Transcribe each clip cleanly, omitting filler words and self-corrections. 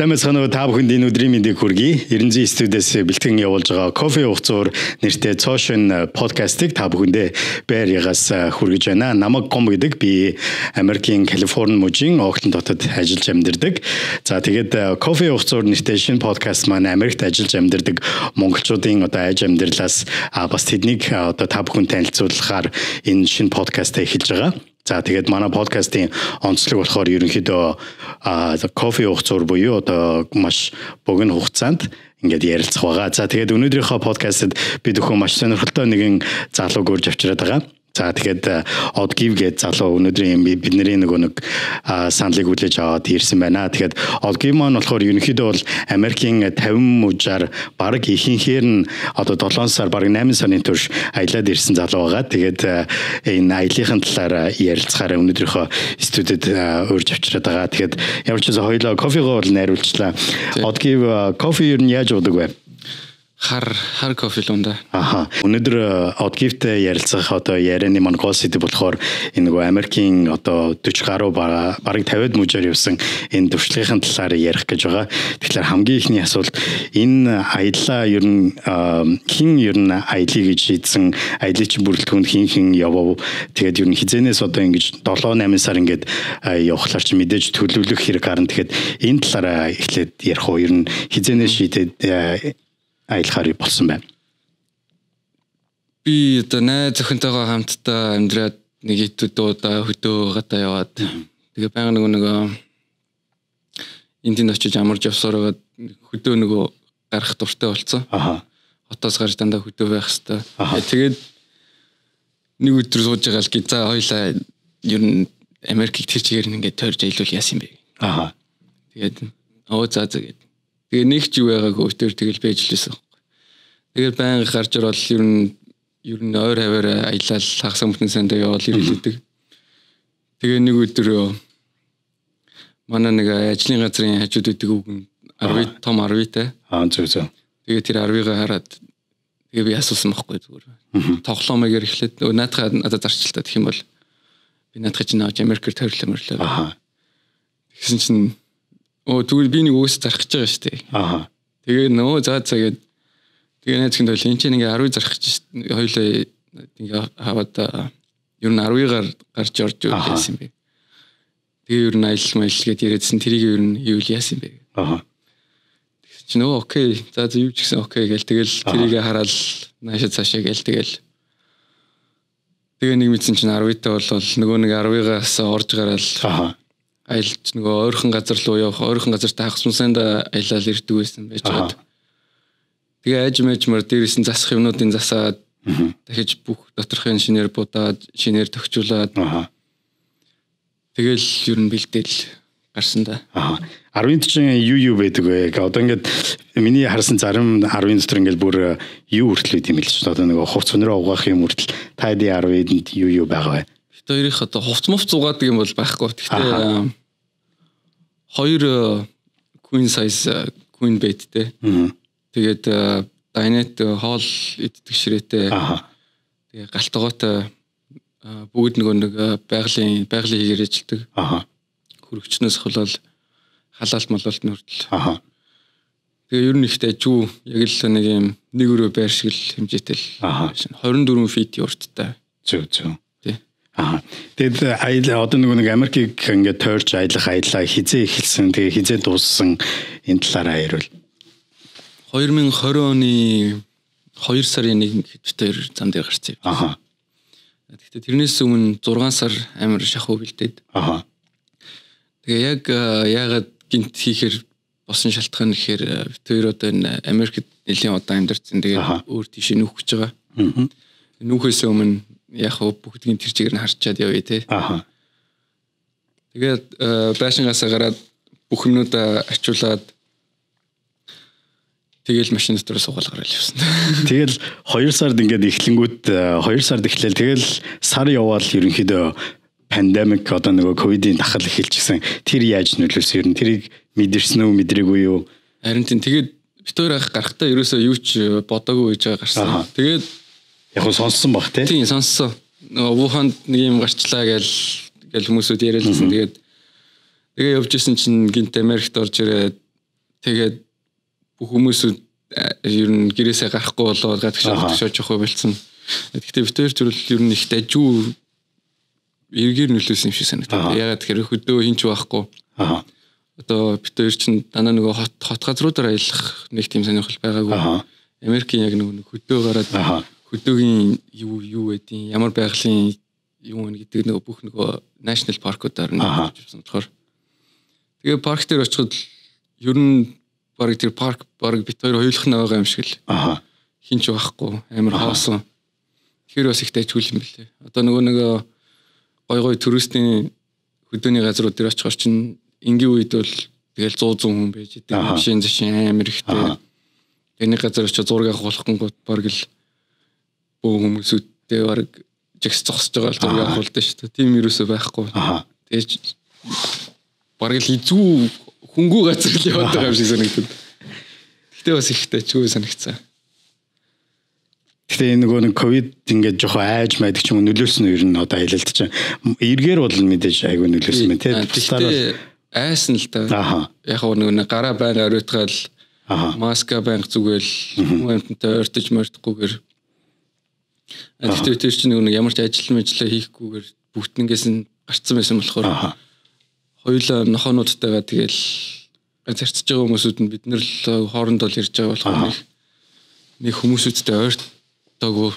Сайн мэцхан та бүхэнд энэ өдрийн мэндийг хүргэе. 900 студиэс бэлтгэн явуулж байгаа кофе ухцуур нэртэй цоошин подкастыг та бүхэндээ байргаас хүргэж байна. Намаг гом гэдэг би Америкийн Калифорни мужийн Окланд хотод ажиллаж амьдардаг. За тэгээд кофе ухцуур нэртэй шинэ подкаст маань Америкт ажиллаж амьдардаг монголчуудын одоо айж амьдралаас бас тэднийг одоо та бүхэнд танилцуулахаар энэ шинэ подкастаа эхэлж байгаа. За тэгээд манай подкастын онцлог болохоор ерөнхийдөө кофе ухцуур буюу одоо маш богино хугацаанд ингээд ярилцах байгаа. За тэгээд өнөөдрийнхөө подкастт бид өхөн маш сонирхолтой нэгэн залууг урьж авчираад байгаа. За тэгээд Odgive гэдэг залуу өнөөдрийн бидний нэг саналыг хүлээж аваад ирсэн байна. Тэгээд Odgive маань болохоор ерөнхийдөө бол Америкийн 50 мужаар баг ихэнхээр нь одоо 7 сар баг 8 сарын турш аялаад ирсэн залуу байгаа. Тэгээд энэ аяллахын талаар ярилцахаараа өнөөдрийнхөө студид урьж авчираад байгаа. Тэгээд ямар ч гэсэн хоёулаа кофегоо бол найруулчлаа. Odgive кофе юу яаж уудаг вэ? Хар кофе л унда. Өнөөдөр Odgive-тэй ярилцах одоо ярианы маань гол сэдэв болохоор энэ нөгөө Америкийн одоо 40 гаруй баг 50-д мужаар явсан энэ туршлагын талаар ярих гэж байгаа. Тэгэхээр хамгийн ихний асуулт энэ аяллаа ер нь хэн ер нь аялье гэж шийдсэн, аяллын чинь бүрэлдэхүүнд хэн явав. Тэгээд ер нь хизэнээс одоо ингэж 7-8 сар ингээд явахлаар чи мэдээж төлөвлөх хэрэг гарна. Тэгэхээр энэ талаараа эхлээд ярих уу? Ер нь хизэнээс шийдээд аялахаар болсон байна. Би одоо найз охинтойгоо хамтдаа амьдраад нэг итүүдөө хөдөө гадаа яваад тэгээ баян нөгөө энд очиж амарч явсараад хөдөө нөгөө гарах дуртай болсон. Хотоос гарч дандаа хөдөө байх хэвээр. Тэгээд нэг өдөр сууж байгаа л за хоёлаа ер нь Америкийг тэр чигээр ингээд тойрж аялуул яасан бэ. Тэгээд за тэгээд тэгээ нэг ч юу байгаагүй өтөр тэгэл байж лээсэн. Тэгээд баян гарч орол ер нь ойр хаваар аялал хагас мөтөн сандаа явал ирэлдэг. Тэгээ нэг өдөр манай нэг ажлын газрын хажууд үүдэг үг нь том 10-тай. Зөв. Тэгээ тэр 10-ыг хараад тэгээ би асуусан байхгүй зүгээр. Тоглоомыг эхлээд наадхаа надад зарчилтаа гэх юм бол би наадхаа чинь авч Америкээр тойрлоо. Тэгсэн чинь тэгвэл би нэг үгээс зарах гэж байгаа шүү дээ. Тэгээ за тэгээд тэгээ найз хэд бол энэ чинь ингээ 10 зарах гэж хоёлаа ингээ хаваад ер нь 10-аар гарч орж байсан юм бэ. Тэгээ ер нь аялал маялгээд яриадсэн тэрийг ер нь юу яасан юм бэ. Тэгсэн чинь окей за юу ч гэсэн окей гээл тэгэл тэрийг хараад наашаа цаашаа гээл тэгээ нэг мэдсэн чинь 10-тай бол нөгөө нэг 10-аас орж гараал аялж нөгөө ойрхон газар руу явах, ойрхон газартай хагас мусанд аялал ирдэг байсан байж байгаа. Тэгээ ажмаар дээрээс нь засах юмнуудын засаад дахиж бүх доторхын шинээр будаад, шинээр төгчүүлээд тэгэл ер нь бэлдээл гарсан да. 10-ын чинь юу байдаг вэ? Одоо ингээд миний харсан зарим 10-ын дотор ингээд бүр юу хүртэл байд юм л ч одоо нөгөө хувц өнөрөө угаах юм хүртэл та ди 10-нд юу байгаа вэ? Бид хоёрын одоо хувц мовц угаадаг юм бол байхгүй. Гэхдээ 2 queen size queen bedтэй. Тэгээд дайнет хоол иддэг ширээтэй. Тэгээ галтгоотой бүгд нэг байгалийн хийгээр ажилладаг. Хөрөгчнөөс хөлөөл халаалт малуулт нь хүртэл. Тэгээ ер нь ихтэй жүү яг л нэг юм нэг өрөө байр шиг л хэмжээтэй л 24 feet урттай. Зөв. Тэгээд аялал одоо нэг Америкийг ингээд тойрч аяллаа хизээ эхэлсэн тэгээ хизээ дууссан энэ талаараа ярил. 2020 оны 2 сарын 1-нд хэд зам дээр гарсан юм. Тэгэхдээ тэрнээс өмнө 6 сар амар шахуу бэлдээд. Тэгээ яг яагаад гинт хийхээр босон шалтгаан гэхээр тэр одоо энэ Америкт нэлийн удаан амьдарсан тэгээд өөр тийш нүүх гэж байгаа. Нүүхээс өмнө яг бүгдийн тэр чигээр нь харчаад явъя те. Тэгээд байшингаас гараад бүх юмнуудаа ачуулаад тэгэл машин дотор суугаад гараад явсан. Тэгэл 2 сард ингээд эхлэнгүүт 2 сард эхлээл тэгэл сар яваал ерөнхийдөө пандемик одоо нөгөө ковидын дахал эхэлчихсэн. Тэр яаж нөлөөлсөн юм? Тэрийг мэдэрсэн үү, мэдрээгүй юу? Харин тэгээд бид хоёр гарахтаа ерөөсөө юу ч бодоогүй байж байгаа гарсан. Тэгээд яг нь сонссон баг тий. Тийм сонссон. Нөгөө Вуханд нэг юм гарчлаа гэж хүмүүсүүд яриалсан. Тэгээд явж исэн чинь гинт Америкт орж ирээд Тэгээд бүх хүмүүсүүд ер нь гэрээсээ гарахгүй болоод гадагшаад явах болсон. Гэхдээ бид хоёр зүйл ер нь их дажгүй эргээр нөлөөсөн юм шиг санагдав. Ягаад гэхээр хөдөө хинч байхгүй. Одоо бид хоёр чинь дандаа нөгөө хот газруудаар аялах нэг тийм сонирхол байгаагүй. Америкийн яг нөгөө хөдөө гараад хөдөөгийн юу байдیں۔ Ямар байгалийн юу вэ гэдэг нөгөө бүх нөгөө national park-уудаар нэг болсон болохоор. Тэгээ парк дээр очиход ер нь баг тэр парк баг бид хоёр хоёулах нь байгаа юм шиг л. Хинч байхгүй. Амар хоосон. Тэгэхээр бас их дайжгүй юм билээ. Одоо нөгөө гой туристийн хөдөөний газрууд дээр очихор чинь энгийн үед бол тэгэл 100 хүн байж идэг. Машин зашин амар ихтэй. Эний газар очиж зураг авах болгонгууд баг л бүх хүмүүсүүдтэй баг жигс зогсож байгаа л зураг авахулдаг шүү дээ. Тийм юусоо байхгүй. Тэгэж баг л изүү хөнгүү газар л яваад байгаа юм шиг санагдав. Гэхдээ бас их дайжгүй санагцсан. Гэхдээ нөгөө нэг ковид ингээд жоохон айж майдаг ч юм нөлөөлсөн нь ер нь одоо аялалт чинь эргээр бол мэдээж айгүй нөлөөлсөн мэн тий. Гэхдээ айсан л да. Яг нөгөө гараа байнга оройтгаал маска банк зүгэл хүмүүнтэй ойртож мордохгүйгээр. Гэхдээ тэр чинь нөгөө ямар ч ажил хийхгүйгээр бүгднгээс нь гарцсан байсан болохоор хоёулаа нохоонуудтайгаа тэгэл зарцж байгаа хүмүүсүүд нь бид нэр л хоорондоо л ирж байгаа болохоор нэг хүмүүсүүдтэй ойртоогүй.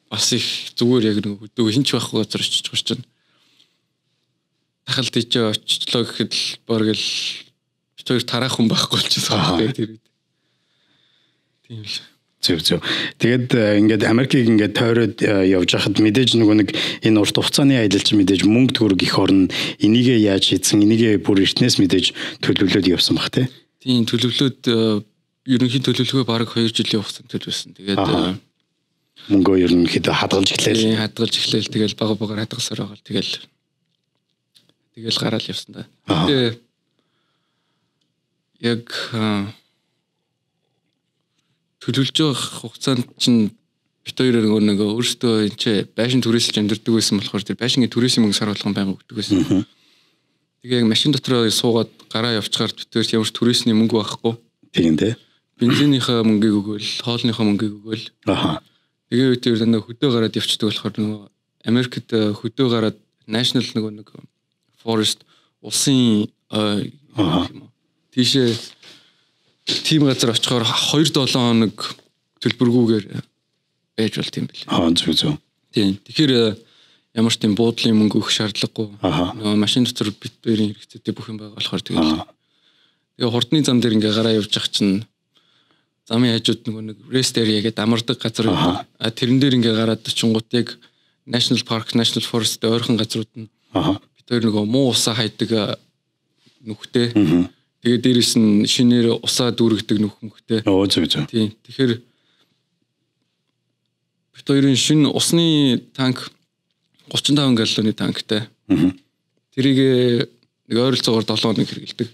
Бас их зүгээр яг нөгөө хөдөө хинч байхгүй газар очиж байгаа чинь. Тахалд ичээ очлоо гэхэд л баг л бид хоёр тараах хүн байхгүй болчихсон байх тийм. Тийм л. Зөв. Тэгээд ингээд Америкийг ингээд тойроод явж хахад мэдээж нөгөө нэг энэ урт хугацааны аялал чинь мэдээж мөнгө төгрөг их орно. Энийгээ яаж хийсэн, энийгээ бүр эртнээс мэдээж төлөвлөлөөд явсан баг тий. Тийм төлөвлөлөөд ерөнхий төлөвлөгөө баг 2 жилийн хугацаанд төлөвлөсөн. Тэгээд мөнгөө ерөнхийдөө хадгалж эхлэв. Тэгэл багаар хадгалсаар байгаа. Тэгэл гараал явсан да. Гэтэ яг төлөвлөж байгаа хугацаанд чинь бид хоёр нэг өөрсдөө энэ байшин түрээсэлж амьдэрдэг байсан болохоор тэр байшингийн түрээсийн мөнгө сар болгон байнга өгдөг байсан. Тэгээ яг машин дотроо суугаад гараа явчихаар бид хоёр ямар ч түрээсний мөнгө байхгүй. Тийм дээ. Бензинийхаа мөнгийг өгөөл, хоолныхаа мөнгийг өгөөл. Тэгээ үед тэр дандаа хөдөө гараад явчихдаг болохоор нөгөө Америкт хөдөө гараад national нэг forest улсын тийшээ тим газар очихоор 2-7 хоног төлбөргүйгээр байж болт юм бэл. Зөв. Тийм. Тэгэхээр ямар ч тийм буудлын мөнгө өгөх шаардлагагүй. Нөгөө машин дотор бит хоёрын хэрэгцээтэй бүх юм байгаа болохоор тэгээ хурдны зам дээр ингээ гараа явж ах чинь замын хажууд нөгөө нэг rest area гэдэг амардаг газар байдаг. Тэрэн дээр ингээ гараад очингууд яг national park, national forest ойрхон газрууд нь бид хоёр нөгөө муу усаа хайдаг нүхтэй. Тэгээ дээрэс нь шинээр усаа дүүргдэг нүхмөхтэй. Зөв. Тийм. Тэгэхээр бид хоёрын шинэ усны танк 35 галлоны танктай. Тэрийг нэг ойролцоогоор 7 хоног хэрэгэлдэг.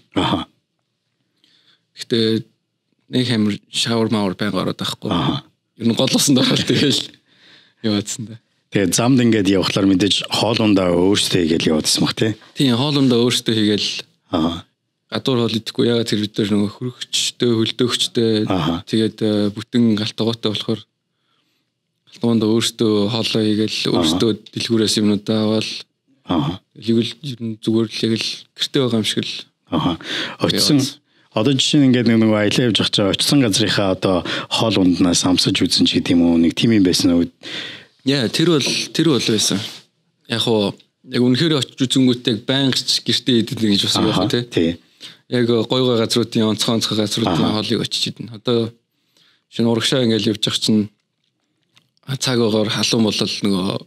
Гэхдээ нэг хамар шавар мавар байнга ороод байхгүй. Ер нь голоосон даа тэгэл яваадсан да. Тэгээ замд ингээд явхлаар мэдээж хоолундаа өөртөө хийгээл яваадсан баг тий. Тийм хоолундаа өөртөө хийгээл гадуур хоол идэхгүй ягаад тэр бид нөгөө хөрөгчтэй хөлдөөгчтэй тэгээд бүтэн галтгоотой болохоор галтгоондоо өөртөө хоолоо хийгээл өөртөө дэлгүүрээс юмнуудаа аваад тэгвэл ер нь зүгээр л яг л гэртээ байгаа юм шиг л очсон. Одоо жишээ нь ингээд нэг аялаа явж байгаа чинь очсон газрынхаа одоо хоол унднаас амсаж үзэн ч гэдэм үү нэг тийм юм байсан уу? Яа тэр бол байсан. Яг үнэхээр очиж үзэнгүүтээ байнга гэртээ идэв гэж бас байх тий. Яг гой газруудын онцгой газруудын хоолыг очиж идэнэ. Одоо шинэ урагшаа ингээл явж байгаа чинь цаг агаар халуун болол нөгөө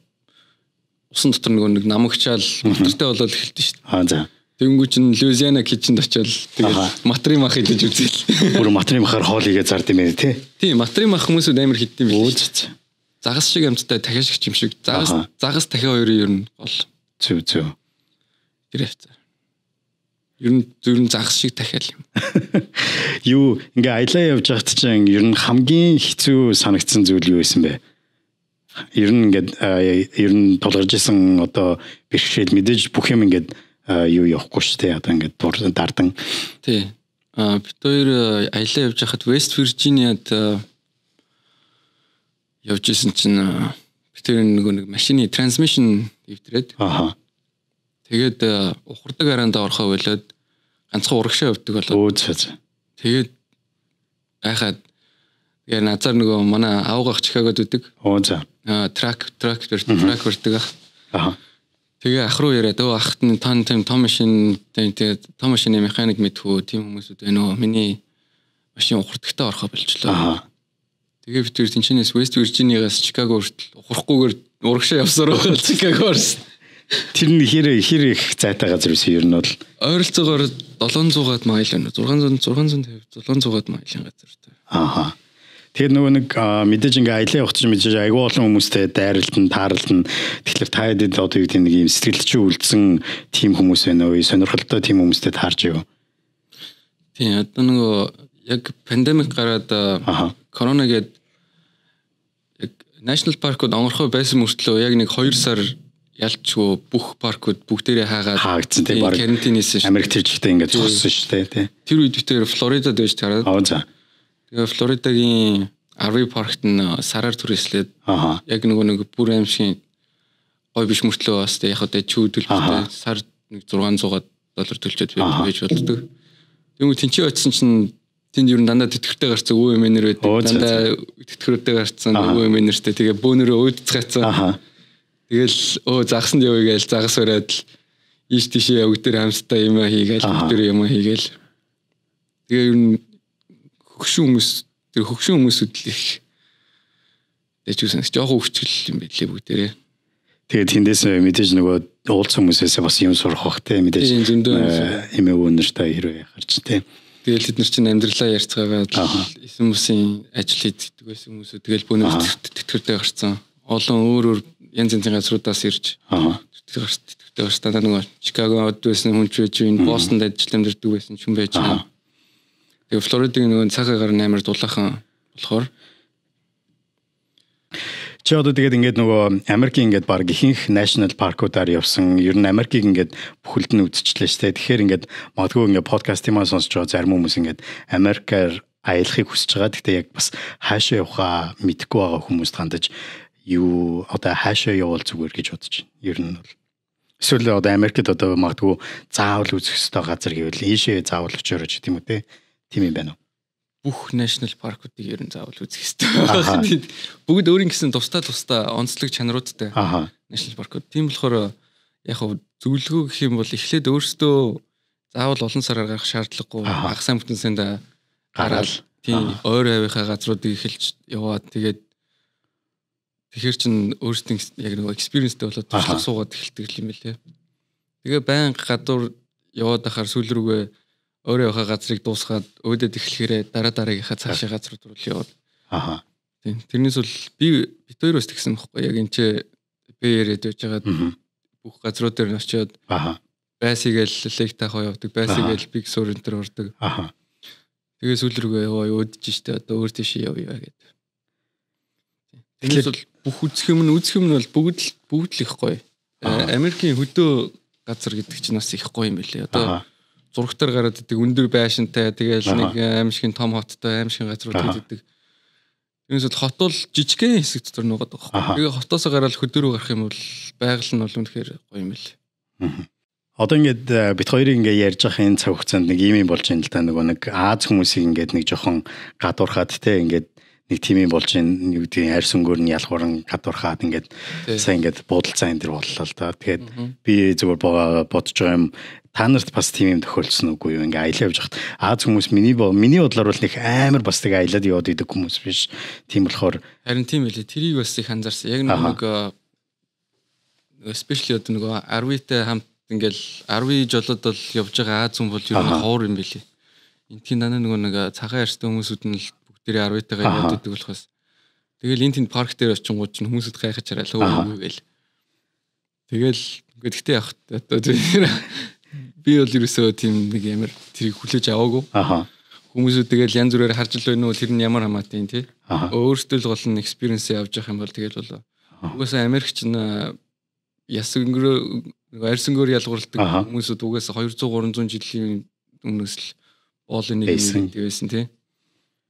усан дотор нэг намагчаал мотортой болол эхэлдэж шүү дээ. За. Тэнгүү чинь Луизиана кичэнд очиод тэгээд матрим ах идэж үзээл. Бүр матрим ахаар хоол игээ зард юм ээ тий. Тийм матрим ах хүмүүсүүд амар хитдэм билээ. Загас шиг амттай дахиашигч юм шиг. Загас дахиа хоёрын ер нь гол. Зөв. Тэр хэвцээ. Ер нь загас шиг дахиал юм. Юу ингээ аялаа явж байхад чинь ер нь хамгийн хэцүү санагдсан зүйл юу байсан бэ? Ер нь ингээд ер нь тулгарч исэн одоо бэрхшээл мэдээж бүх юм ингээд юу явахгүй шүү дээ. Одоо ингээд дардан. Тий. Бид хоёр аялаа явж байхад West Virginia-д явж исэн чинь бид тэр нэг машины трансмишн ивдрээд. Тэгээд ухардаг араанда орохоо болоод ганцхан урагшаа явдаг болоод. Тэгээд гайхаад тэгээ назар нөгөө манай аавгах Чикагод үдэг. Трак барьдаг ах. Тэгээ ах руу яриад ахт нь том машин тэгээд том машины механик мэдхүү тийм хүмүүсүүд байна уу? Миний машин ухардагтаа орохоо болчихлоо. Тэгээ бид тэр тэнчнээс West Virginia-гаас Чикаго хүртэл ухрахгүйгээр урагшаа явсаар байгаа Чикагоос. Тэр нь хэр их зайтай газар байсан ер нь бол ойролцоогоор 700-аад майл байна. 650 700-аад мaiлийн газар. Тэгээд нөгөө нэг мэдээж ингээ аялаа явах чинь мэдээж айгүй олон хүмүүстэй дайралтан таарлан тэгэхээр та хэд одоо юу гэдэг нэг юм сэтгэлдчүү үлдсэн тим хүмүүс байна уу? Сонирхолтой тим хүмүүстэй таарч юу? Тийм одоо нөгөө яг пандемик гараад корона гээд яг National Park-ууд онгорхой байсан мөртлөө яг нэг 2 сар ялчгүй бүх паркууд бүгдээрээ хаагдсан тийм баг карантинээс Америк тэр жигтэй ингээд зогссон шүү дээ тий. Тэр үед битээр Флоридад байж тараад. Тэгээ Флоридагийн RV паркт нь сараар түрээслээд яг нэг бүр аимшиг гой биш мөртлөө бас яг одоо чүүдэлтэй сар нэг $600 төлчөөд байж болдог. Тэгмээ тэнцээ очсон чинь тэнд ер нь дандаа тэтгэвртэй гарцсан өвөө эмээнэр байдаг. Дандаа тэтгэвртэй гарцсан өвөө эмээнэртэй тэгээ бөөнөрөө өөдцгээцсэн. Тэгэл загсанд явъя гээл загас бариад л ийш тийшээ явг дээр хамстай юм хийгээл бүгдээр юм хийгээл. Тэгээ ер нь хөгшин хүмүүсүүд л их дэжүүсэн жоохон хөвчгөл юм байлээ бүгдээрээ. Тэгээд тэндээс мэдээж нөгөө уулзсан хүмүүсээс бас юм сурах бах те мэдээж эмээ өнөртэй хэрвээ гарч те. Тэгэл тэд нар чинь амьдралаа ярьцгаагаад эсэн бүсийн ажил хийдэг байсан хүмүүсүүд тэгэл бөөнөр тэтгэвртэй гарцсан. Олон өөр янз янзын газруудаас ирж тэтгэвртэй гарч та нөгөө Чикагод байсан хүн ч байж байна, Бостонд ажиллаж амьдардаг байсан хүн байж байна. Тэгээ Флоридагийн нөгөө цагаан гар амар дулаахан болохоор чи одоо тэгээд ингээд нөгөө Америкийн ингээд баг ихэнх national паркуудаар явсан. Ер нь Америкийг ингээд бүхэлд нь үзчихлээ шүү дээ. Тэгэхээр ингээд магадгүй ингээд подкастыг маань сонсож байгаа зарим хүмүүс ингээд Америкаар аялахыг хүсэж байгаа. Гэхдээ яг бас хаашаа явахаа мэдэхгүй байгаа хүмүүст хандаж юу одоо хаашаа явал зүгээр гэж бодож байна. Ер нь бол эсвэл одоо Америкт одоо магадгүй заавал үзэх ёстой газар гэвэл ийшээ заавал очиорож тийм үү те. Тийм юм байна уу? Бүх national паркуудыг ер нь заавал үзэх ёстой. Бүгд өөрийн гэсэн тусдаа онцлог чанаруудтай national паркууд. Тийм болохоор яг зөвлөгөө гэх юм бол эхлээд өөрсдөө заавал олон сараар гарах шаардлагагүй ах сайн бүтэнсэнд гараад тийм ойр авийнхаа газруудыг эхэлж яваад тэгээд тэгэхэр чин өөрсдийн яг нэг experienceтэй болоод туршлага суугаад эхэлдэг юм билээ. Тэгээ байнга гадуур яваад ахаар сүүл рүүгээ өөрөө явах газрыг дуусгаад өөдөд эхлэхээрээ дараагийнхаа цаашаа газрууд руу яваад. Тийм. Тэрнээс бол бид хоёр бас тэгсэн байхгүй яг энэ ч бэрэд байж байгаа бүх газрууд дээр нь очиод байсгээл лек таахаа явдаг, байсгээл биг сур энэ төр ордог. Тэгээ сүүл рүүгээ яваа өөдөж штэ одоо өөр тийшээ явъя гэдэг. Тэрнээс бол бүх үзэх юм нь бол бүгд л их гоё. Америкийн хөдөө газар гэдэг чинь бас их гоё юм билээ. Одоо зургатаар гараад идэг өндөр байшинтай тэгэл нэг аимшигын том хоттой аимшигын газрууд идэг. Тэрнээс бол хот бол жижигхэн хэсэг дотор нугаад байгаа. Тэгээ хотоос гараад хөдөө рүү гарах юм бол байгаль нь бол үнэхээр гоё юм билээ. Одоо ингээд бит хоёрыг ингээд ярьж байгаа энэ цаг хугацаанд нэг юм болж байна л да нөгөө нэг Аз хүмүүсийг ингээд нэг жоохон гадуурхаад те ингээд нэг тим юм болж байна юу гэдгийг арьс өнгөөр нь ялгууран гадуурхаад ингээд сайн ингээд буудалцаа энэ төр боллоо л да. Тэгээд би зүгээр бодож байгаа юм та нарт бас тийм юм тохиолдсон үгүй юу ингээ аялаа явж хахад Аз хүмүүс миний бодлоор бол нэг амар бас тэг аялаад яваад идэг хүмүүс биш. Тийм болохоор харин тийм байлээ. Тэрийг бас их анзаарсан. Яг нэг especially одоо нөгөө RV-тэй хамт ингээл RV жолоод бол явж байгаа Аз хүн бол ер нь ховор юм билий. Энтхийн дана нөгөө нэг цагаан арьстай хүмүүсүүд нь л бүгдээрээ RV-тэйгээ яваад идэг болохоос тэгэл энэ тэнд парк дээр очингууд чинь хүмүүсүүд гайхаж чараад хөөе гээл. Тэгэл ингээд гэтээ явах одоо би бол ерөөсөө тийм нэг ямар тэрийг хүлээж аваагүй. Хүмүүсүүд тэгэл янз бүрээр харж л байна уу тэр нь ямар хамаатай юм тий. Өөртөө л гол нь experience явж явах юм бол тэгэл бол угаасаа Америкч нь яс өнгөрөө нөгөө арьсангөөр ялгуурладаг хүмүүсүүд угаасаа 200 300 жилийн өмнөөс л боолын нэг байсан тий.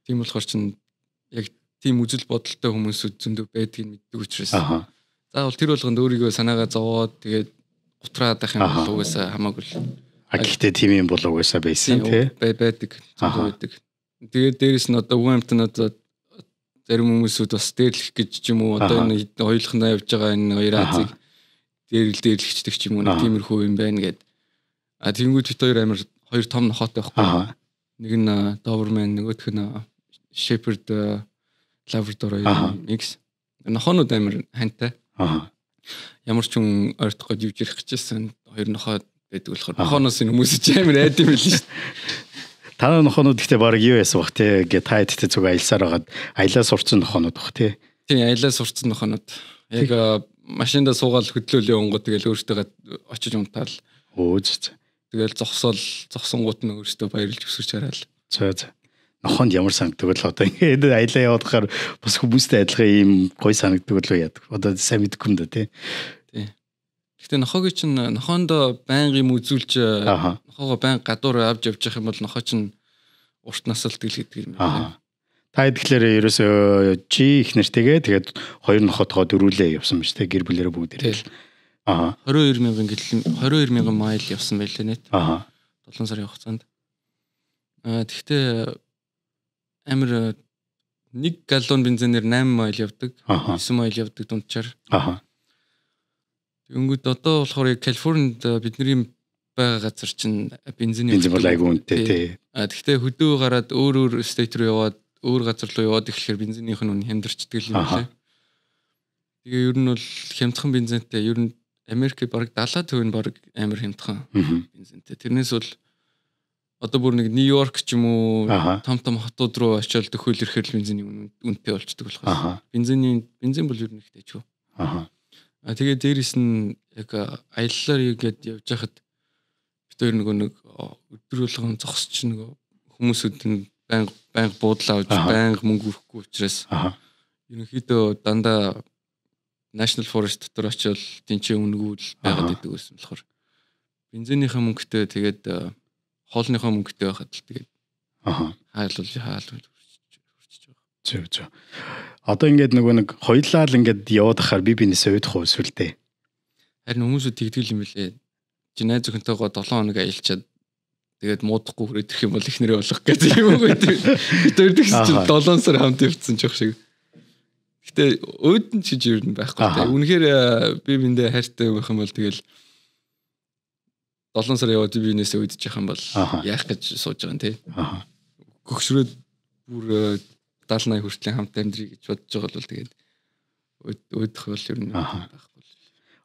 Тийм болохоор чинь яг тийм үзэл бодолтой хүмүүсүүд зөндөө байдгийг мэддэг учраас. Заавал тэр болгонд өөрийгөө санаагаа зовоод тэгээд утраад байх юм бол угаасаа хамаагүй л. Гэхдээ тийм юм бол угаасаа байсан тий. Байдаг. Зөндөө байдаг. Тэгээд дээрэс нь одоо үн амтан одоо зарим хүмүүсүүд бас дээрлэх гэж ч юм уу одоо энэ хоёулахнаа явж байгаа энэ хоёр Азийг дээрлэгчдэг ч юм уу тиймэрхүү юм байна гэд. Тэнгүүд бит хоёр том нохоотой байхгүй. Нэг нь Doberman нөгөөх нь Shepherd Labrador mix. Нохоонууд амар хантай. Ямар ч хүн ойртох гэж явж ирэх гэжсэн хоёр нохоо байдаг болохоор нохооноос энэ хүмүүс ч амар айд юм л шүү дээ. Танай нохоонууд ихтэй баг юу яасан бах те гэ та хэдтэй зүг аялсаар хагаад аялаа сурцсан нохоонууд бах те. Тийм аялаа сурцсан нохоонууд. Яг машинда суугаад хөдлөөлөө онгод тэгэл өөртөө очиж унтаал. Тэгэл зогсонгууд нь өөртөө баярлж өсөж хараал. За. Нохоонд ямар санагддаг л одоо ингээд аялаа яваад хахаар бас хүмүүстэй адилхан ийм гой санагддаг л яадаг. Одоо сайн мэдгүй юм да тий. Гэхдээ нохоонд байнга юм үзүүлж нохоогоо байнга гадуур авч явж явах юм бол нохоо чинь урт насалт гэдэг юм байна. Та тэгэхээр ерөөсөө чи их нэртэйгээ тэгээд хоёр нохотгоо дөрүүлээ явсан ба штэ гэр бүлэрээ бүгд ирэл. 22,000 майл явсан байлээ нэт. 7 сарын хугацаанд. Тэгвэл амар 1 галлон бензинээр 8 майл явдаг, 9 майл явдаг дунджаар. Тэнгүүд одоо болохоор Калифорнид бидний байгаа газар чинь бензин бол айгүй үнэтэй тий. Тэгвэл хөдөө гараад өөр стейт руу яваад өөр газар руу яваад ирэхээр бензинийх нь хямдарчдаг юм байна. Тэгээ ер нь бол хямдхан бензинтэй ер нь Америк бараг 70% нь бараг амар хямдхан бензинтэй. Тэрнээс бол одоо бүр нэг Нью-Йорк ч юм уу том хотууд руу очиод төхөөл ирэхээр бензиний үнэтэй болчдөг болохоос. Бензин бол ер нь ихтэй ч юу. Тэгээ дээрэс нь яг аяллаар игээд явж хахад бид хоёр нэг өдөр болгон зогсож нэг хүмүүсүүд нь байнга буудлаа авч байнга мөнгө өрөхгүй учраас ерөнхийдөө дандаа National Forest дотор очиод тэнцээ өнгөл байгаад идэг байсан болохоор бензинийхаа мөнгөтэй тэгээд хоолныхаа мөнгөтэй байхад л тэгээд хаалвал хурцж байгаа. Зөв. Одоо ингээд нэг хоёлаа л ингээд яваад ахаар бинээсээ уйдах уу сүлдээ. Харин хүмүүсүүд тэгдэг юм билээ. Чи найз зөвхөнтэйгоо 7 хоног аялчаад тэгээд муудахгүй хүрээд ирэх юм бол их нэрээ болох гэдэг юм уу гэдэг. Тэр чинь 7 сар хамт явцсан ч их шиг. Гэтэ өөдөн ч ер нь байхгүй те. Үнэхээр би биндээ хайртай байх юм бол тэгэл 7 сар яваад бинээсээ уйдчих юм бол яах гэж сууж байгаа юм те. Гөгшрөөд бүр 70-80 хүртлийн хамт амьдрий гэж бодож байгаа бол тэгээд өөдөх бол ер нь байхгүй.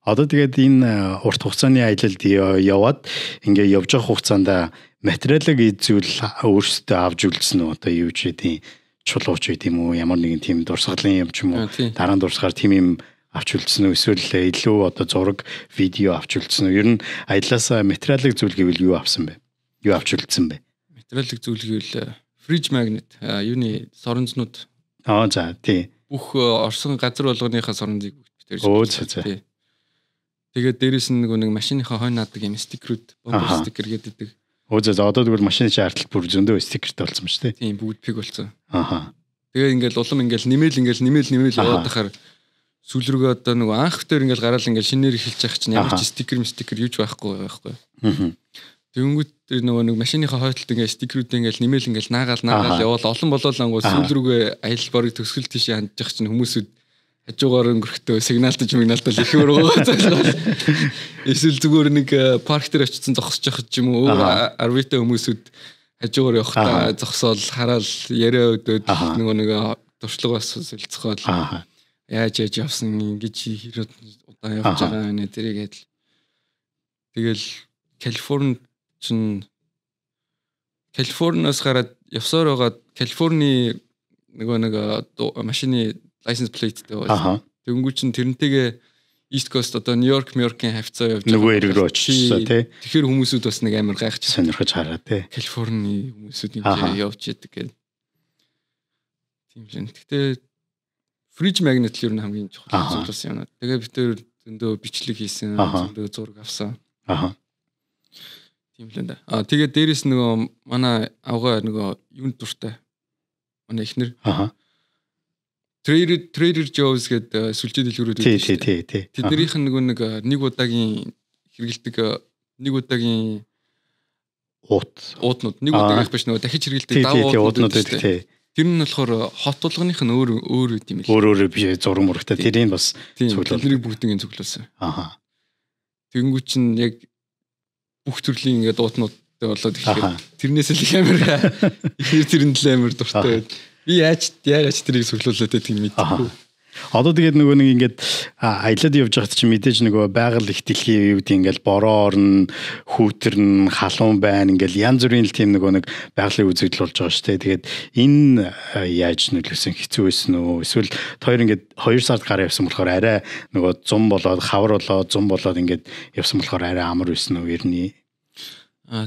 Одоо тэгээд энэ урт хугацааны аялалд яваад ингээ явж байгаа хугацаанд материалыг зүйл өөрсдөө авч үлдсэн үү? Одоо юу ч гэдэм чулууч байт юм уу? Ямар нэгэн тийм дурсгалын юм ч юм уу? Дараа нь дурсгаар тийм юм авч үлдсэн үү? Эсвэл илүү одоо зураг, видео авч үлдсэн үү? Ер нь аяллаас материалыг зүйл гэвэл юу авсан бэ? Юу авч үлдсэн бэ? Материалыг зүйл гэвэл fridge magnet юуны соронзнууд. За тий. Бүх орсон газар болгоныхаа соронзыг бүтээр. Тэгээд дээрэс нь нэг машиныхаа хойно наадаг юм стикерүүд, бомбер стикер гэдэг. За одоо тэгвэл машины чартал бүр зөндөө стикертэй болсон ба шүү дээ. Тийм бүгд пиг болсон. Тэгээд ингээл улам ингээл нэмэл яваад тахаар сүүл рүүгээ одоо нэг анх дээр ингээл гараал ингээл шинээр эхэлж явах чинь ямар ч стикер юуч байхгүй. Тэнгүүд нэг машиныхаа хойдолд ингээл стикерүүд ингээл нэмэл наагаал явал олон болоолангуу сүүл рүүгээ аялал барыг төгсгөл тийшээ хандж явах чинь хүмүүсүүд хажуугаар өнгөрөхдөө сигналтаж их өргөө. Эсвэл зүгээр нэг парк дээр очсон зогсож явах юм уу? Арвитай хүмүүсүүд хажуугаар явахдаа зогсоол хараал яриа өдөөд нэг туршлага бас солилцоход яаж явсан ингэж хэрэг удаан явж байгаа нэ тэрийгээд тэгэл Калифорниас гараад явсаар байгаа Калифорни нэг машины license plate дээр байна. Тэнгүүч нь тэрнтэйгээ East Coast одоо Нью-Йоркийн хавцаа явж нөгөө эрэг рүү очсон тий. Тэгэхээр хүмүүсүүд бас нэг амар гайхаж сонирхож хараа тий. Калифорни хүмүүсүүд ингэ явж яадаг гэдэг. Тийм л. Гэтэ fridge magnet л ер нь хамгийн чухал зүйл юм. Тэгээ бид тэр зөндөө бичлэг хийсэн, зөндөө зураг авсан. Тийм л энэ. Тэгээд дээрэс нөгөө манай авгаа нөгөө юунд дуртай. Манай эхнэр. Trader Joe's гэдэг сүлжээ дэлгүүрүүд үү. Тэднийх нь нөгөө нэг удаагийн хэрэгэлдэг нэг удаагийн уутнууд нэг удаагийнх биш нөгөө дахиж хэрэгэлдэг уутнууд байдаг. Тэр нь болохоор хот тулгыных нь өөр юм л. Өөр биш зураг мурагтай тэрийг бас цуглуулсан. Тэрийг бүгдийг цуглуулсан. Тэгэнгүүт чинь яг бүх төрлийн ингээд уутнуудтай болоод ихээр тэрнээс л их амар ихэр тэрэнд л амар дуртай. Би яаж тэрийг цуглууллаа гэдэг нь мэдэхгүй. Одоо тэгээд нөгөө нэг ингээд аялаад явж байхад чинь мэдээж нөгөө байгаль их дэлхийн үед ингээд бороо орно, хүүтэрн, халуун байна ингээд янз бүрийн л тийм нөгөө нэг байгалийн үзэгдэл болж байгаа шүү дээ. Тэгээд энэ яаж нөлөөсөн хэцүү байсан үү? Эсвэл хоёр ингээд 2 сард гараа явсан болохоор арай нөгөө зум болоод хавар болоод зум болоод ингээд явсан болохоор арай амар байсан уу ерний?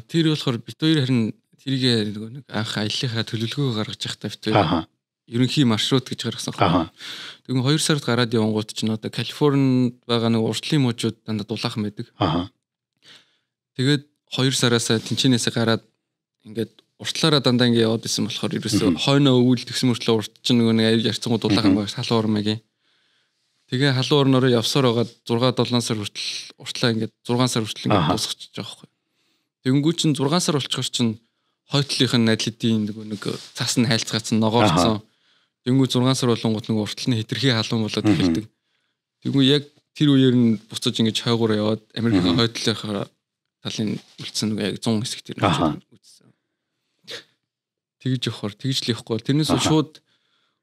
Тэр болохоор бит хоёр харин тэрийг нөгөө нэг анх аяллахаа төлөвлөгөө гаргаж байхдаа бит хоёр ерөнхий маршрут гэж гаргасан байна. Тэгвэл 2 сард гараад явангууд чинь одоо Калифорнид байгаа нэг уртлын мужууд дандаа дулаахан байдаг. Тэгээд 2 сараас тэнцэнээс гараад ингээд уртлаараа дандаа ингээд яваад исэн болохоор ерөөсөө хойноо өвөл тэгсэн мөртлөө урт чинь нөгөө нэг ярьцангууд дулаахан байгаа халуун ормагийн. Тэгээ халуун орнороо явсаар байгаа 6-7 сар хүртэл уртлаа ингээд 6 сар хүртэл ингээд дуусчихж байгаа байхгүй. Тэгэнгүүт чинь 6 сар болчихор чинь хойтлынхын атлетийн нэг цаас нь хайлцгаацсан ногоорцсон. Тэнгүү 6 сар болонгууд нэг уртлын хитрхи халуун болоод эхэлдэг. Тэнгүү яг тэр үеэр нь буцаж ингэж хойгоор яваад Америкийн хойтлынхаа талын үлдсэн нэг яг 100 хэсэг тэр үзсэн. Тэгж явахаар тэгж л явахгүй. Тэрнээс шууд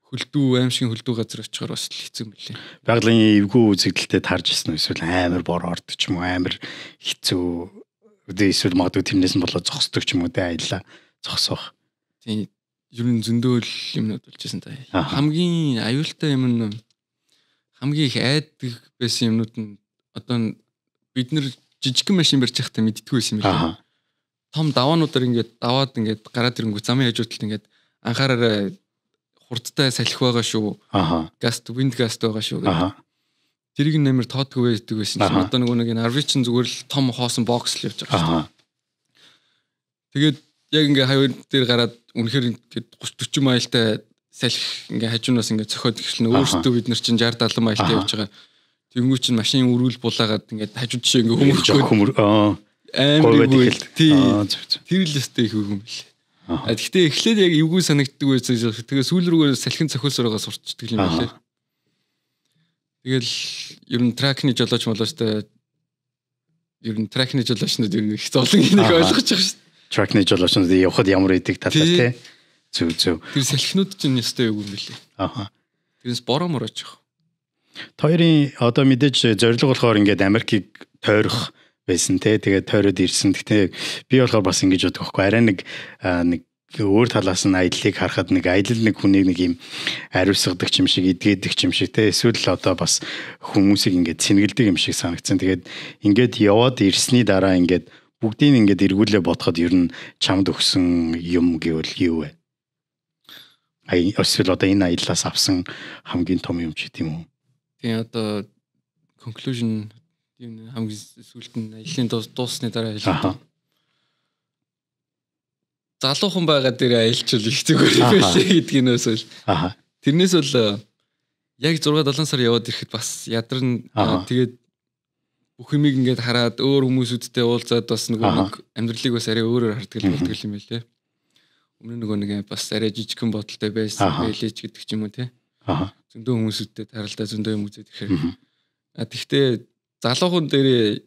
хөлдөө аимшиг хөлдөө газар очихоор бас хэцүү мөлий. Байгалийн эвгүй үзэгдэлтэд тарж ирсэн эсвэл амар бор ордог ч юм уу амар хэцүү эсвэл магадгүй тэрнээс нь болоод зогсдог ч юм уу тэ аялла зогсоох. Тийм ер нь зөндөө л юмнууд болчихсон та. Хамгийн аюултай юм нь хамгийн их айдаг байсан юмнууд нь одоо бид нар жижигхэн машин барьж байхдаа мэддэггүй байсан юм байна. Том даваануудаар ингээд даваад ингээд гараад ирэнгүү замын хажуудалд ингээд анхаараараа хурдтай салхи байгаа шүү. Гаст wind гаст байгаа шүү. Тэрийг нэмэр тоодгүй байдаг байсан чинь одоо нэг RV чинь зүгээр л том хоосон бокс л явж байгаа шүү. Тэгээд яг ингээ хавар дээр гараад үнэхээр ингээд 30-40 майлтай салхи ингээ хажуунаас ингээ цохоод ирсэн өөртөө бид нар чинь 60-70 майлтай явж байгаа. Тэнгүү чинь машин үрүүл булаагаад ингээд хажууд жишээ ингээ хөмөр амар тэр л өстэй их үгүй юм бэл. Гэхдээ эхлээд яг эвгүй санагддаг байсан. Тэгээ сүүл рүүгээр салхин цохиосороо сурчдаг юм байлээ. Тэгэл ер нь тракны жолооч молоостой ер нь тракны жолоочнууд ер нь их зовлон энийг ойлгож байгаа шүү. Тракны жолоочнууд явхад ямар идэг талаа тий. Зөв. Тэр салхинууд чинь өстэй юу юм бэлээ. Тэрнээс бороо морооч яах. Хоёрын одоо мэдээж зорилго болохоор ингээд Америкийг тойрох байсан тий. Тэгээд тойроод ирсэн. Гэхдээ би болохоор бас ингэж боддог байхгүй. Арай нэг өөр талаас нь аяллыг харахад нэг аялал нэг хүнийг нэг юм ариусгадаг юм шиг эдгээдэг юм шиг те эсвэл одоо бас хүмүүсийг ингээд сэнгэлдэг юм шиг санагдсан. Тэгээд ингээд яваад ирсний дараа ингээд бүгдийг ингээд эргүүлээ бодоход ер нь чамд өгсөн юм гэвэл юу вэ? Эсвэл одоо энэ аяллаас авсан хамгийн том юм ч гэдэм үү? Тийм одоо conclusion юм хамгийн сүүлд нь аяллаа дуусны дараа хэлээ. Залуухан байгаа дээр аялчвал их зүгээр байлээ гэдгийнээс бол. Тэрнээс бол яг 6-7 сар яваад ирэхэд бас ядарна. Тэгээд бүх юмыг ингээд хараад өөр хүмүүсүүдтэй уулзаад бас нэг амьдралыг бас арай өөрөөр хардаг болдог юм байлээ. Өмнө нэг бас арай жижигхэн бодолтой байсан байлээч гэдэг ч юм уу те. Зөндөө хүмүүсүүдтэй таралдаа зөндөө юм үзээд ирэхээр. Тэгвэл залуухан дээр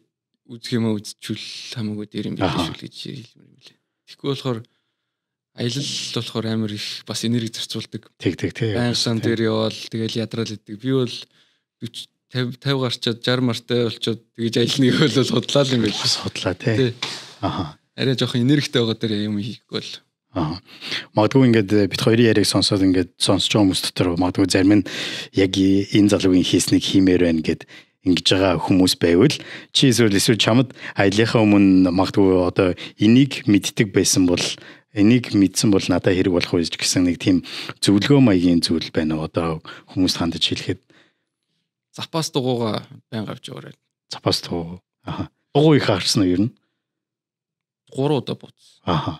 үзэх юм үзчихвэл хамаагүй дээр юм байлээ шүү гэж хэлмээр юм байлээ. Тэгэхгүй болохоор аялал болохоор амар их бас энерги зарцуулдаг. Тэг. Байнсан дээр явал тэгэл ядраал идэг. Би бол 40 50 гарчаад 60 мартай болчоод тэгэж аялныг бол судлаа юм байл. Судлаа тий. Арай жоохон энергитэй байгаа дээр юм хийхгүй бол. Магадгүй ингээд бит хоёрын яриг сонсоод ингээд сонсож байгаа хүмүүс дотор магадгүй зарим нь яг энэ залуугийн хийснийг хиймээр байна гэд ингэж байгаа хүмүүс байвал чи эсвэл чамд аяллахаа өмнө магадгүй одоо энийг мэддэг байсан бол энийг мэдсэн бол надад хэрэг болох үеж гэсэн нэг тийм зөвлөгөө маягийн зүйл байна уу одоо хүмүүст хандаж хэлэхэд. запас дугуугаа байнга авч яваарай. Запас дугуй. Аха. Дугуй их харсан уу ер нь? 3 удаа бууцсан.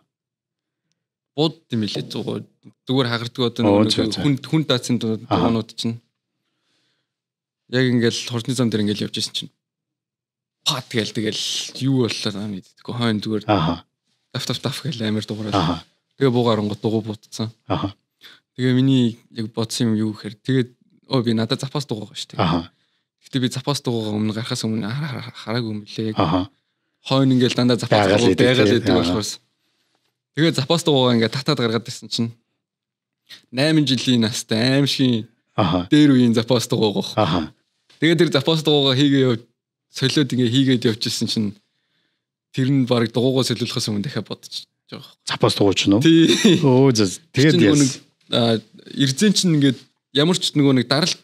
Бууд юм билээ зүгээр хагардаг одоо хүн даацсан дугуунууд чинь яг ингээл хурдны зам дээр ингээл явж исэн чинь пат гээл юу боллоо мэддэггүй хойно зүгээр таф гээл амар дугаараа. Тэгээ буугаарангууд дугуй буутсан. Тэгээ миний яг бодсон юм юу гэхээр тэгээд би надад запас дугуй байгаа шүү дээ. Гэтэ би запас дугуйгаа өмнө гарахаас өмнө хараагүй юм билээ. Хойно ингээл дандаа запас дугуй байгаад байдаг болохоос. Тэгээ запас дугуйгаа ингээд татаад гаргаад ирсэн чинь 8 жилийн настай аимшиг дээр үеийн запас дугуй гоох. Тэгээ тэр запас дугуйгаа хийгээ солиод ингээ хийгээд явчихсан чинь тэр нь баг дугуйгаа солиулахаас өмнө дахиад бодож байгаа. Запас дугуй ч нөө. Өө тэгээд эрзэн чинь ингээд ямар ч нэг даралт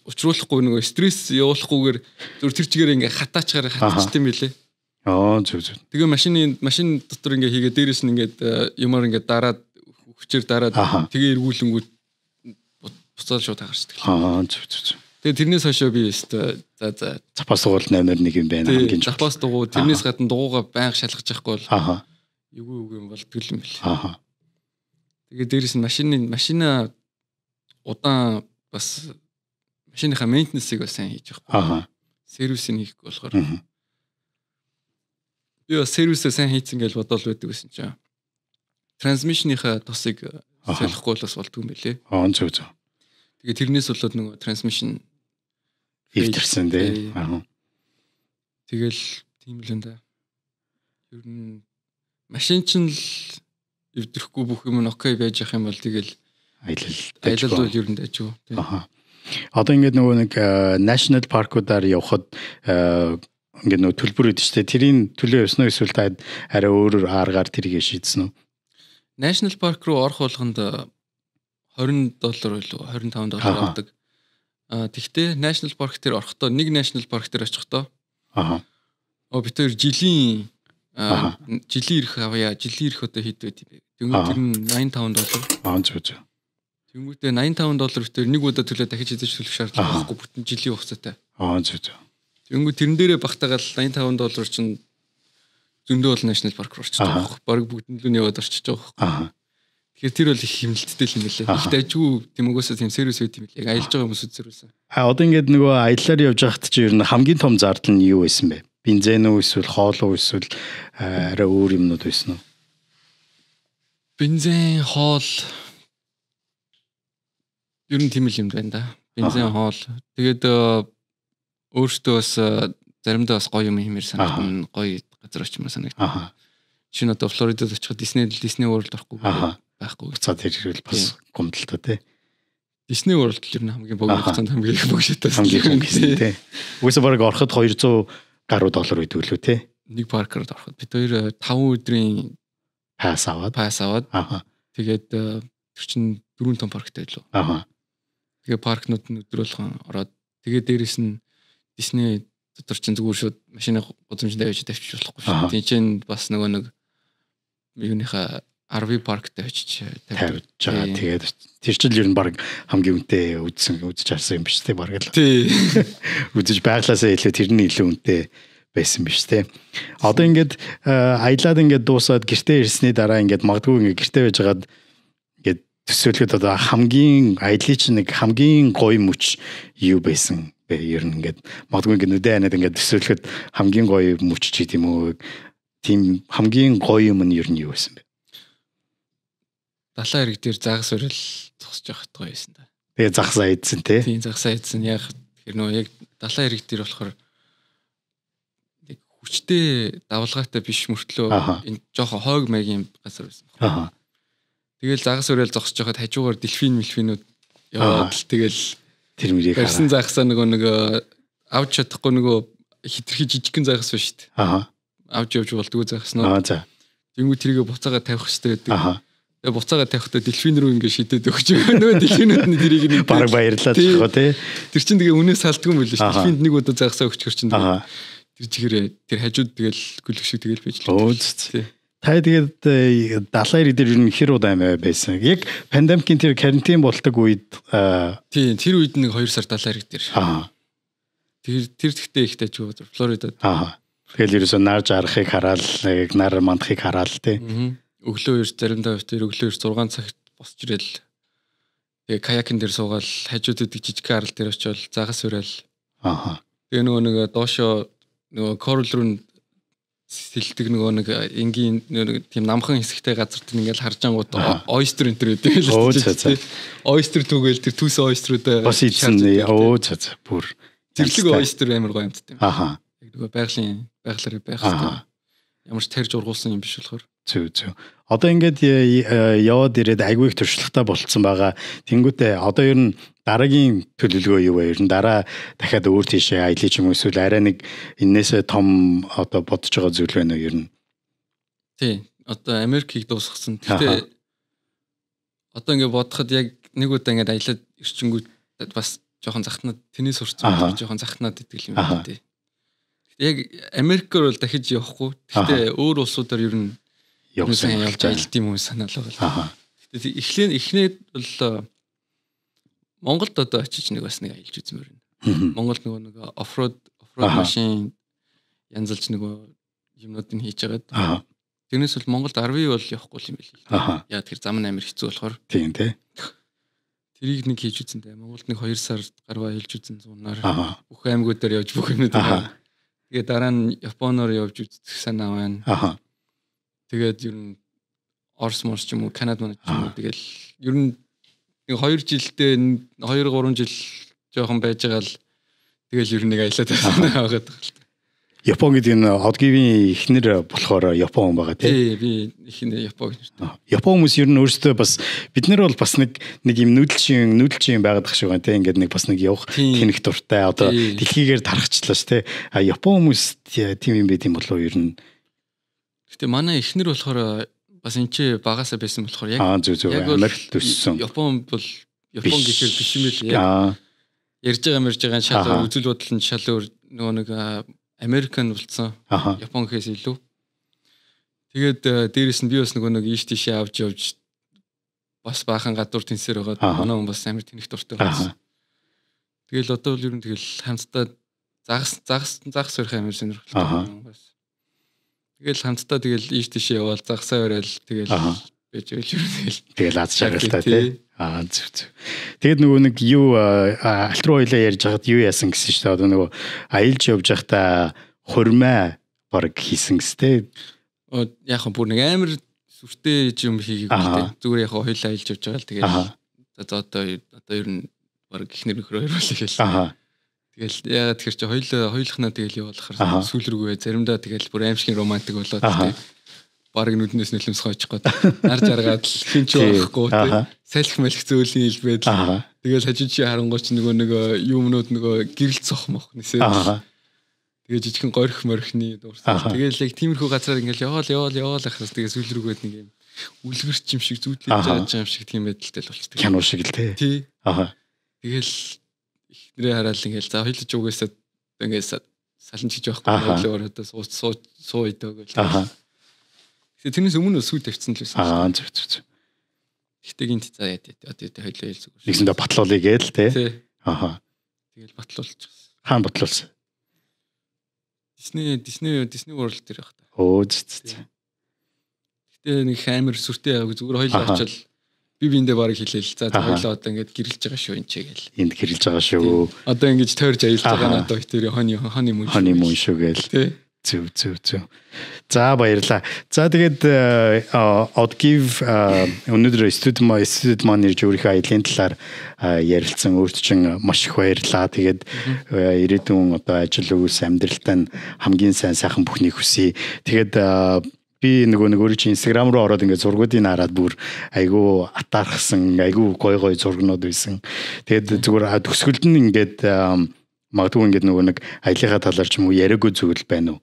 учруулахгүй нэг стресс явуулахгүйгээр зүр тэр чигээр ингээ хатаачаар хатчихсан билээ. Зүг. Тэгээ машин дотор ингээ хийгээ дээрээс нь ингээд юмар ингээ дараад хүчээр дараад тэгээ эргүүлэнгүүд буцаал шууд хагарчдаг. Зүг. Тэгээ тэрнээс хойшоо би за запас дугуй 8-аар 1 юм байна хамгийн чухал. Запас дугуй тэрнээс гадна дугуйгаа байнга шалгаж явахгүй бол юу юм болтгол юм билээ. Тэгээ дээрээс нь машина удаан бас машиныхаа мейнтенсийг бас сайн хийж явахгүй. Сервисийг хийхгүй болохоор би бас сервисээ сайн хийцэн гэж бодол байдаг гэсэн чинь трансмишныхаа тосыг солихгүй л бас болдгүй юм билээ. Зүг. Тэгээ тэрнээс болоод нөгөө трансмишн ивдэрсэн дээ. Тэгэл тийм л энэ. Ер нь машин чинь л ивдэрэхгүй бүх юм нь окей байж ах юм бол тэгэл аялал бол ер нь дайжгүй. Одоо ингээд нөгөө нэг national park-уудаар явхад ингээд нөгөө төлбөр өгдөө штэ. Тэрийн төлөө явсан уу эсвэл та арай өөрөөр аргаар тэрийг шийдсэн үү? National park руу орох болгонд $20 байлгүй $25 авдаг. Тэгвэл National Park дээр орохдоо нэг National Park дээр очихдоо бид хоёр жилийн ирэх авъя. Жилийн ирэх одоо хэд байд юм бэ? Тэр нь $85. Зүг. Тэнгүүтээ $85 битээр нэг удаа төлөө дахиж эзэж төлөх шаардлага байхгүй бүтэн жилийн хугацаатай. Зүг. Тэнгүү тэрэн дээрээ багтаагаад $85 чинь зөндөө бол National Park руу орчих жоох. Бараг бүгдэн л нь яваад орчих жоох. Тэгэхээр тэр бол их хэмнэлттэй юм билээ. Их дайжгүй тийм угаасаа тийм сервис байт юм билээ. Яг аялж байгаа хүмүүсүүд зэрүүлсэн. Одоо ингээд нөгөө аяллаар явж байхад чи ер нь хамгийн том зардал нь юу байсан бэ? Бензин үү эсвэл хоол уу эсвэл арай өөр юмнууд байсан уу? Бензин, хоол ер нь тийм л юм байна да. Бензин, хоол. Тэгээд өөртөө бас заримдаа бас гоё юм хиймээр санагдсан. Гоё газар очимаар санагдсан. Шинэ одоо Флоридад очиход Disney World орохгүй байхгүй. Цаад хэрвэл бас гомдолтой тий. Disney World л ер нь хамгийн богино хугацаанд хамгийн их богштой тий. Үгүйсээ бараг ороход $200 гаруй доллар үйдэг лөө тий. Нэг паркерд ороход бид хоёр 5 өдрийн пасс аваад. Тэгээд тэр чинь 4 том парктай байлоо. Тэгээ паркнууд нь өдөр болгон ороод тэгээ дээрэс нь Disney дотор чинь зүгээр шууд машины гудамжинд авчиж тавьчих болохгүй шүү. Тийм чинь бас нөгөө нэг юуныхаа RV парктай очиж тавьж байгаа. Тэгээд тэр чинь ер нь баг хамгийн үнэтэй үзэж харсан юм биш үү? Баг л. Тий. Үзэж байглаасаа илүү тэр нь илүү үнэтэй байсан биш үү? Одоо ингээд аялаад ингээд дуусаад гэртээ ирсний дараа ингээд магадгүй ингээд гэртээ байжгаад ингээд төсөөлөхөд одоо хамгийн аяллаа чинь нэг хамгийн гоё мөч юу байсан бэ? Ер нь ингээд магадгүй ингээд нүдэ анаад ингээд төсөөлөхөд хамгийн гоё мөч ч гэдэм үү? Тийм хамгийн гоё юм нь ер нь юу байсан бэ? Далайн хэрэг дээр загас өрөл зогсож явахд гоё байсан да. Тэгээ загсаа идсэн тий. Тийм загсаа идсэн. Яг тэр нөө яг далайн хэрэг дээр болохоор яг хүчтэй давлгаатай биш мөртлөө энэ жоохон хойг маягийн газар байсан. Тэгэл загас өрөл зогсож явахд хажуугаар дельфинүүд яваад л тэгэл тэр мөрийг харсан загсаа нөгөө авч чадахгүй нөгөө хитрхи жижигхэн загас ба шүү дээ. Авч явж болдгоо загснаа. Тэнгүү тэрийг буцаага тавих хэрэгтэй гэдэг. Тэгээ буцаага тавихдаа дельфин рүү ингэ шидэд өгч нөгөө дельфинүүд нь тэрийг нэг баг баярлаад байгаа тий. Тэр чинь тэгээ үнээс салтгүй юм билээ шүү. Дельфинд нэг удаа загсаа өгчгөр чинь тэр чигээрээ тэр хажууд тэгэл гүлгшиг тэгэл байж л. Та тэгээд далайн хэрэг дээр ер нь хэр удаа байсан. Яг пандемикийн тэр карантин болдог үед тий тэр үед нэг 2 сар далайн хэрэг дээр. Тэр тэгтээ ихтэй ч үү Флоридад. Тэгэл ерөөсөө нар жарахыг хараад яг нар мандахыг хараад тий. Өглөө 9 заримдаа өглөө 6 цагт босч ирэл. Тэгээ каякин дээр суугаад хажууд идэг жижиг арал дээр очивол загас уриал. Тэгээ нөгөө доошоо нөгөө корал руу сэлдэг нөгөө энгийн тийм намхан хэсэгтэй газар тийм ингээл харж ангууд ойстер энэ төр гэдэг л тийм. Ойстер түгээл тэр төс ойструудаа бас ийдсэн бүр зэрлэг ойстер амар гоё юмд тийм. Яг нөгөө байгалаар байх хэрэгтэй. Ямар ч тарж ургуулсан юм биш болохоор. Зүг. Одоо ингээд яваад ирээд айгүй их туршлагатай болцсон байгаа. Тэнгүүтээ одоо ер нь дараагийн төлөвлөгөө юу вэ? Ер нь дараа дахиад өөр тийшээ аялах юм эсвэл арай нэг энээсээ том одоо бодож байгаа зүйл байна уу ер нь? Тий. Одоо Америкийг дуусгасан. Гэхдээ одоо ингээд бодоход яг нэг удаа ингээд аялаад ирчингүүд бас жоохон захтнаад тэний сурцсан жоохон захтнаад идэг юм байна тий. Яг Америкээр бол дахиж явахгүй. Гэхдээ өөр улсуудаар ер нь явж аялт юм уу санаал байгаа. Тэгэхээр эхнээд бол Монголд одоо очиж нэг бас нэг аялж үзмээр байна. Монголд нөгөө оффроуд машин янзалж нөгөө юмнуудыг хийж агаад. Тэрнээс бол Монголд RV бол явахгүй юм байл. Яа тэр зам амар хэцүү болохоор. Тийм тий. Тэрийг нэг хийж үзэн дээ. Монголд нэг 2 сар гарваа аялж үзэн зунаар бүх аймагуудаар явж бүх юмнууд. Тэгээ дараа нь Японоор явж үзэх санаа байна. Тэгээд ер нь Орос ч юм уу, Канада ч юм уу тэгэл ер нь 2 жилдээ 2-3 жил жоохон байж байгаа л тэгэл ер нь нэг аялаад байгаа байгаа. Япон гэдэг нь одгивийн ихнэр болохоор Япон байгаа тий. Би ихнэр Япон. Япон хүмүүс ер нь өөрсдөө бас бид нар бол бас нэг юм нүүдэлчин байгаад шиг байна тий. Ингээд нэг бас нэг явах тэнэг дуртай одоо дэлхийгээр тархачлаа ш тий. Япон хүмүүс тийм юм байт юм болов ер нь. Гэтэ манай ихнэр болохоор бас энэ ч багасаа байсан болохоор яг Америкт төссөн. Япон гэхээр биш юм байл яг ярьж байгаа шал үзэл бодол нь шал өөр нөгөө нэг Американ болсон. Япон гэхээс илүү. Тэгээд дээрэс нь би бас нөгөө нэг ийш тийшээ авч явж бас баахан гадуур тэнсээр байгаа. Манай хүн бас амар тэнэх дуртай байсан. Тэгэл одоо л ер нь тэгэл хамтдаа загас өрх амар сонирхолтой бас. Тэгэл хамтдаа тэгэл ийш тийшээ яваал загсаа барайл тэгэл байж тэгэл аз жаргалтай тий. Зүг. Тэгээд нөгөө нэг юу алт руу хоёлаа ярьж хахад юу яасан гэсэн чинь одоо нөгөө аялж явж байхдаа хурмаа баг хийсэн гэстэй. Яг нь бүр нэг амар сүртэй юм хийгээгүй дээ. Зүгээр яг хоёлаа аялж явж байгаа л тэгээд одоо ер нь баг ихнэр нөхөр хоёр болоо гээл. Тэгэл яагаад тэр чи хоёулахнаа тэгэл явуулахаар сүүл рүүгээ заримдаа тэгэл бүр аимшигын романтик болоод тий. Бараг нүднээс нөлөмсгөө очих гээд нар жаргаад хинч байхгүй тий. Салхи мэлх зөөлний хэлбэд л тэгэл хажууд чи харангуйч нөгөө юмнууд нөгөө гэрэл цох мох нэсээ. Тэгээ жижигхэн горих морхны дуурсан. Тэгэл яг тиймэрхүү газараар ингээл яваал ахраас тэгээ сүүл рүүгээд нэг юм үлгэрч юм шиг зүудлэж байгаа юм шиг тийм байдалтай л болчихдог. Кино шиг л тий. Тэгэл ихнэрээ хараад ингээл за хоёлж угаасаа ингээл салан чиж байхгүй болоо одоо суу идэг гэл. Тэгээ тэрнээс өмнө сүйд тавьчихсан л байсан. Зүг. Гэхдээ гинт за яа одоо хоёлоо хэл зүгээр. Нэгсэндээ батлуулъя гээл тий. Тэгэл батлуулчихсан. Хаан батлуулсан. Disney World дээр байх та. Зүг. Гэтэ нэг амар сүртэй яг зүгээр хоёлоо очил биендээ барыг хэлээл. За хоёлоо одоо ингээд гэрэлж байгаа шүү энэ ч гээл. Энд гэрэлж байгаа шүү. Одоо ингэж тойрж аялж байгаа надад тэр хоны мөн шүү гээл. Зүг. За баярлаа. За тэгээд Odgive өнөөдөр студид маань ирж өөрийнхөө аялын талаар ярилцсан өөрт чинь маш их баярлаа. Тэгээд ирээдүйн одоо ажил үйлс амьдралтаа хамгийн сайхан бүхнийг хүсье. Тэгээд би нөгөө өөр чинь Instagram руу ороод ингээд зургуудыг хараад бүр айгүй атаархсан, айгүй гой зургнууд байсан. Тэгээд зүгээр төсгөлд нь ингээд магадгүй ингээд нөгөө нэг аяллахаа талаар ч юм уу яриаггүй зүйл байна уу?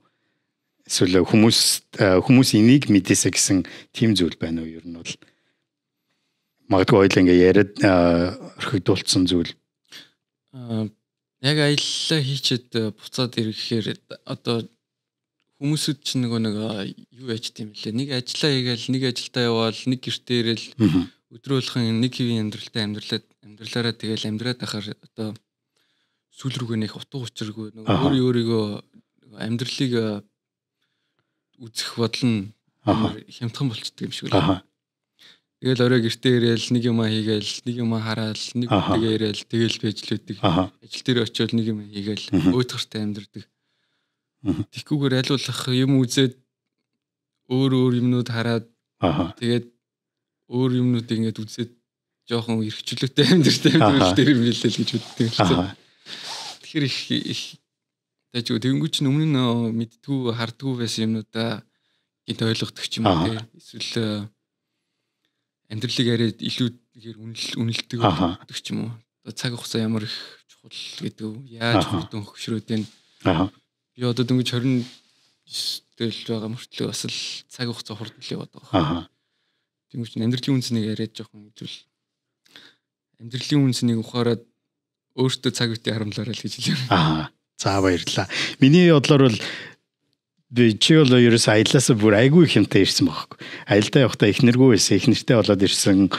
Эсвэл хүмүүс энийг мэдээсэ гэсэн тийм зүйл байна уу? Ер нь бол магадгүй ойлаа ингээ яриад орхигдуулсан зүйл. Яг аяллаа хийчихэд буцаад ирэхээр одоо хүмүүсүүд чинь нэг юу яж тийм лээ. Нэг ажиллаа хийгээл, нэг ажилдаа яваал, нэг гэртээ ирээл өдрөөлхөн нэг хэвийн амьдралаараа тэгэл амьдраад байхаар одоо сүүл рүүгээ нэг утга учиргүй нөгөө өөрийгөө амьдралыг үзэх бодол нь хямдхан болчихдөг юм шиг л. Тэгэл орой гэртээ ирээл нэг юм хийгээл, нэг юм хараал, нэг үтэгээ ирээл тэгэл бэжлүүдэг. Ажил дээр очиод нэг юм хийгээл өөдгөртэй амьдрдаг. Тэгхгүйгээр айлуулах юм үзээд өөр юмнууд хараад тэгээд өөр юмнуудыг ингээд үзээд жоохон эрхчлөөтэй амьдрал дээр мэлэл гэж боддог. Тэгэхээр их таажгүй тэгэнгүүт чинь өмнө нь мэддгүү хардгүү байсан юмнуудаа гинт ойлгодог ч юм уу тий. Эсвэл амьдралыг арай илүү ихээр үнэлдэг гэдэг ч юм уу. Цаг хугацаа ямар их чухал гэдэг үү. Яаж хүрдэн хөвшрөөд байна. Би одоо дөнгөж 29-тэл байгаа мөртлөө бас л цаг хугацаа хурдлээ боддог. Тэнгүүч амьдралын үнцнийг яриад жоохон хэлвэл амьдралын үнцнийг ухаарад өөртөө цаг үеийн харамлаарай л гэж хэлээ. За баярлалаа. Миний бодлоор бол чи бол ерөөс аяллаасаа бүр айгүй хэмтэй ирсэн байхгүй. Аялдаа явахдаа их нэргүй байсан. Их нэртэй болоод ирсэн.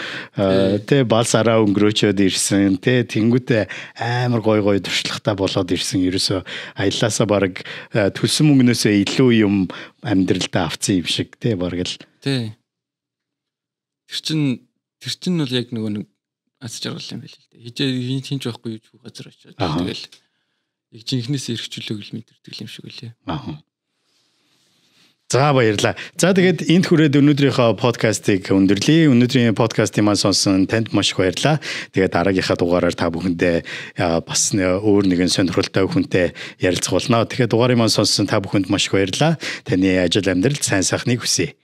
Тэ балсараа өнгөрөөчөөд ирсэн. Тэ тэнгуүтэ амар гой туршлагатай болоод ирсэн. Ерөөсөө аяллаасаа баг төлсөн мөнгнөөсөө илүү юм амьдралдаа авцсан юм шиг тэ баг л. Тэ. Тэр чин бол яг нэг аз жаргал юм байл л дээ. Хижээ хинч байхгүй юу газар очиод тэгэл яг жинхнээс эргчлөөг л мэдэрдэг юм шиг үлээ. За баярлалаа. За тэгээд энд хүрээд өнөөдрийнхөө подкастыг өндөрлөе. Өнөөдрийн подкастыг маань сонсон танд маш их баярлалаа. Тэгээд дараагийнхаа дугаараар та бүхэндээ бас өөр нэгэн сонирхолтой хүнтэй ярилцах болно. Тэгэхээр дугаарыг маань сонссон та бүхэнд маш их баярлалаа. Таны ажил амьдралд сайн сайхныг хүсье.